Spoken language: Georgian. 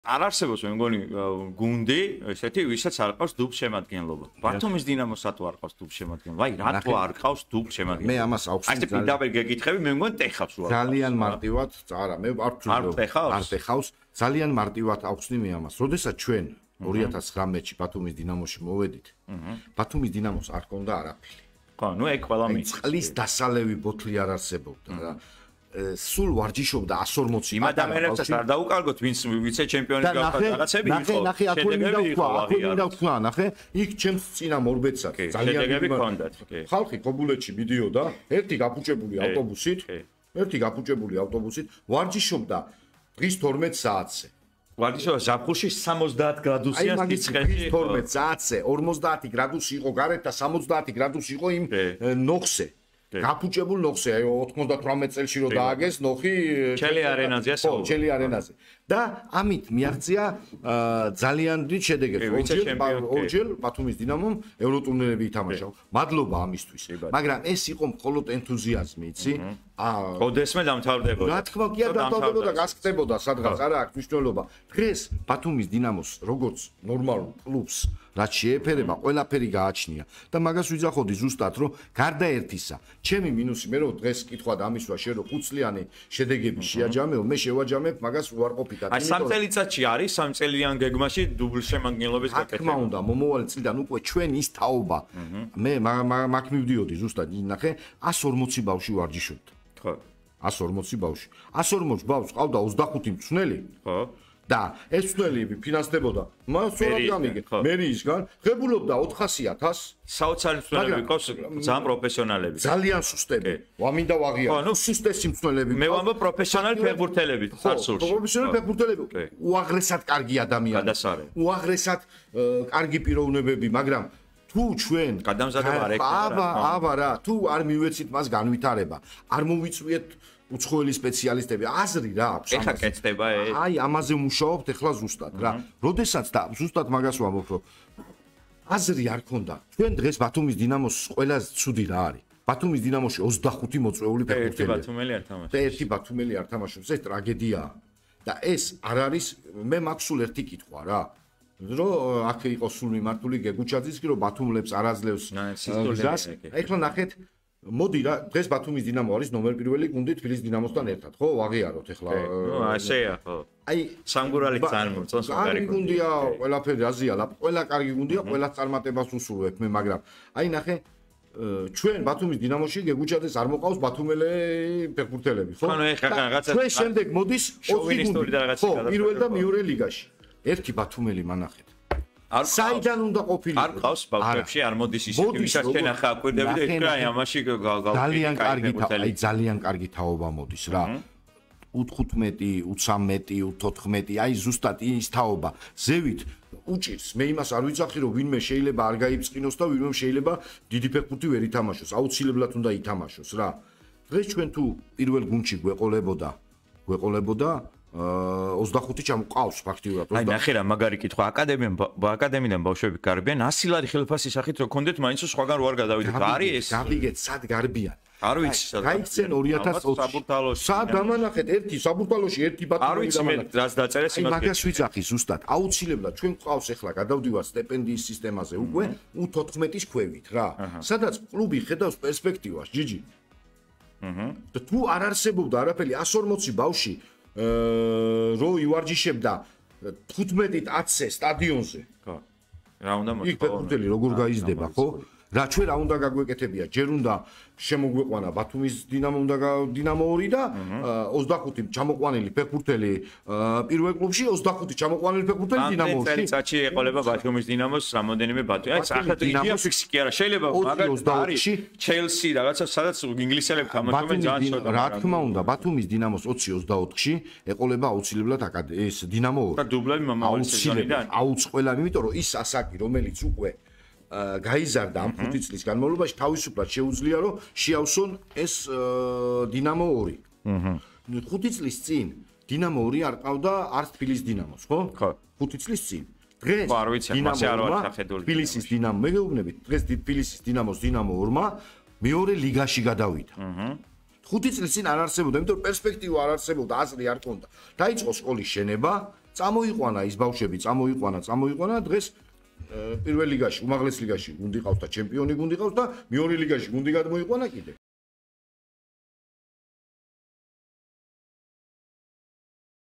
არ არსებობს მე მგონი გუნდი, ესეთი ვისაც არ ყავს დუბლ შემადგენლობა. ბათუმის დინამოს რატო არ ყავს დუბლ შემადგენლობა? აი, რატო არ ყავს დუბლ შემადგენლობა? მე ამას აუხსნი. აი, პირდაპირ გეკითხები, მე მგონი ტეხავს რა. ძალიან მარტივად, არა, მე არ ვთვლი. არ ტეხავს. ძალიან მარტივად აუხსნი მე ამას. როდესაც ჩვენ 2019-ში ბათუმის დინამოში მოვედით, ბათუმის დინამოს არ ჰქონდა არაფერი. ხო, ნუ ეგ ყველა მის. წყლის დასალევი ბოთლი არ არსებობდა რა. სულ ვარჯიშობდა 140 იმ ადამიანებსაც არ დაუკარგოთ ვინც ვიცე ჩემპიონი გახდა რაღაცები იყო ნახე აკუინდა თქვა ნახე იქ ჩემს წინა მორბეცად ძალიან შედეგები ჰქონდათ ხალხი ქობულეთში მიდიოდა ერთი გაფუჭებული ავტობუსით ვარჯიშობდა დღის 12 საათზე ვარჯიშობდა ზაფხულში 70 გრადუსიან სიცხეში 12 საათზე 50 გრადუსი იყო გარეთ და 70 გრადუსი იყო იმ ნოხზე გაფუჭებულ ნოხზე, აი 98 წელში რო დააგეს ნოხი ჩელი არენაზეა საუბარი. ჩელი არენაზე. და ამით მიაღწია ძალიან დიდ შედეგებს. ორჯერ ბათუმის დინამომ ევროტურნირები ითამაშა. მადლობა ამისთვის. მაგრამ ეს იყო მხოლოდ ენთუზიაზმი, იცი? ოდესმე დამთავრდებოდა. რა თქმა უნდა, დამთავრდებოდა, გასკდებოდა სადღაც, არა აქვს მნიშვნელობა. დღეს ბათუმის დინამოს როგორც ნორმალურ კლუბს რაც შეეფერება, ყველაფერი გააჩნია და მაგას ვიძახოდი ზუსტად, რომ გარდა ერთისა, ჩემი მინუსი მე რომ დღეს კითხვა დამისვა შენ რომ ხუთწლიანი შედეგები შეაჯამეო, მე შევაჯამებ მაგას უარყოფითად. აი 3 წელიწადში არის 3 წელიან გეგმაში დუბლ შემადგენლობის გაკეთება. რა თქმა უნდა, მომავალი წლიდან უკვე ჩვენ ის თაობა. მე მაგ მივდიოდი ზუსტად, ნახე, 140 ბავშვი ვარჯიშობდა. ხო. 140 ბავშვი. 140 ბავშვს ყავდა 25 მწვრთნელი. ხო. და ეს მწვრთნელები ფინანსდებოდა მას სწორად გამიგე მერიისგან ღებულობდა 400.000 საოცარი მწვრთნელები ყავს ძალიან პროფესიონალები ძალიან სუსტები ვამინდა ვაღიარო სუსტესი მწვრთნელები მე ვამბობ პროფესიონალი ფეხბურთელები სარცულში პროფესიონალი ფეხბურთელები უაღრესად კარგი ადამიანები უაღრესად კარგი პიროვნებები მაგრამ თუ ჩვენ გადამზადება არ ექნება აბა რა თუ არ მივეცით მას განვითარება არ მოვიწვიეთ უცხოელი სპეციალისტები აზრი რა აქვს ეხა კეთდება ეს აი ამაზე მუშაობთ ეხლა ზუსტად რა როდესაც და ზუსტად მაგას ვამბობ რომ აზრი არ ქონდა ჩვენ დღეს ბათუმის დინამოს ყველაზე ცუდი რა არის ბათუმის დინამოში 25 მოწვეული ფეხბურთელია ერთი ბათუმელი არ თამაშობს ეს ტრაგედიაა და ეს არ არის მე მაქვს სულ ერთი კითხვა რა რომ აქ იყოს სულ მიმართული გეგუჩაძის კი რომ ბათუმლებს არ აძლევს გზას ეხლა ნახეთ მოდი რა დღეს ბათუმის დინამო არის ნომერ პირველი გუნდი თბილისის დინამოსთან ერთად ხო ვაღიაროთ ეხლა ნუ ასეა ხო აი სამგურალი ძალიან მოწონს კარგი გუნდია ყველაფერი აზია ყველა კარგი გუნდია ყველა წარმატებას უსურვებ მე მაგრამ აი ნახე ჩვენ ბათუმის დინამოში გეგუჩაძეს არ მოყავს ბათუმელი ფეხბურთელები ხო ანუ ეხლა რაღაცა ჩვენ შემდეგ მოდის 20 გუნდი ხო პირველ და მეორე ლიგაში ერთი ბათუმელი მანახეთ საიდან უნდა ყოფილიყო არ ყავს ბავშვებში არ მოდის ისეთი ვისაც ჩვენ ახლა აკვირდები და ეთქვა აი ამაში ძალიან კარგი აი ძალიან კარგი თაობა მოდის რა U15 U13 U14 აი ზუსტად ის თაობა ზევით უჭირს მე იმას არ ვიცახი რომ ვინმე შეიძლება არ გაიწყინოს და ვინმე შეიძლება დიდი ფეხბურთი ვერ ითამაშოს აუცილებლად უნდა ითამაშოს რა დღეს ჩვენ თუ პირველ გუნდში გვეყოლებოდა 25 ჩამოყავს ფაქტიურად. აი ნახე რა მაგარი კითხვა აკადემიიდან ბავშვები გარბიან 100 ლარი ხელფასის სახით რო კონდეთ მაინც სხვაგან რო არ გადავიდეთ. არის ეს? გავიგეთ სად გარბიან. არ ვიცი სად. გაიქცენ 2020 საბურთალოში. სად დამანახეთ ერთი საბურთალოში ერთი ბათუმი არ ვიცი მე რაც დაწერეს იმას. მაგას ვიცახი ზუსტად. აუცილებლად ჩვენ ყავს ახლა გადავდივართ სტიპენდიის სისტემაზე უკვე U14-ის ქვევით რა. სადაც კლუბი ხედავს პერსპექტივას ჯიჯი. და თუ არ არსებობდა არაფერი 140 ბავშვი რო ივარჯიშებდა 15-10-ზე სტადიონზე. ხო. რა უნდა მოხდეს? იქ ფეხბურთელი როგორ გაიზრდება, ხო? რა ჩვენ რა უნდა გაგვეკეთებია? ჯერ უნდა შემოგვეყვანა ბათუმის დინამო დინამო 2 და 25 ჩამოყვანილი ფეხბურთელი პირველ კლუბში, 25 ჩამოყვანილი ფეხბურთელი დინამოში. წელიწადში ეყოლება ბათუმის დინამოს რამოდენიმე ბათუმი. აი ახლა დინამო ფიქსი კი არა, შეიძლება მაგალითად ჩელსი რაღაცა სადაც ინგლისელები თამაშობენ ძალიან ცოტა. რა თქმა უნდა, ბათუმის დინამოს 20-24-ში ეყოლება აუცილებლად ეს დინამო 2. და დუბლები მომავალი სეზონიდან. აუცილებლად, იმიტომ რომ ის ასაკი, რომელიც უკვე გაიზარდა ამ 5 წლის განმავლობაში თავისუფლად შეუძლია რომ შეავსონ ეს დინამო 2. 5 წლის წინ დინამო 2 არ ყავდა არც თბილისის დინამოს, ხო? ხო. 5 წლის წინ. დღეს არ ვიცი, მასე არ ვარ შეხედული. თბილისის დინამო, მე გეუბნებით, დღეს თბილისის დინამოს დინამო 2-მა მეორე ლიგაში გადავიდა. 5 წლის წინ არ არსებობდა, იმიტომ რომ პერსპექტივა არ არსებობდა, აზრი არ ქონდა. დაიწყო სკოლის შენება წამოიყვანა ის ბავშვები, წამოიყვანა დღეს პირველ ლიგაში, უმაღლეს ლიგაში გუნდი ყავს და ჩემპიონი გუნდი ყავს და მეორე ლიგაში გუნდი გადმოიყვანა კიდე.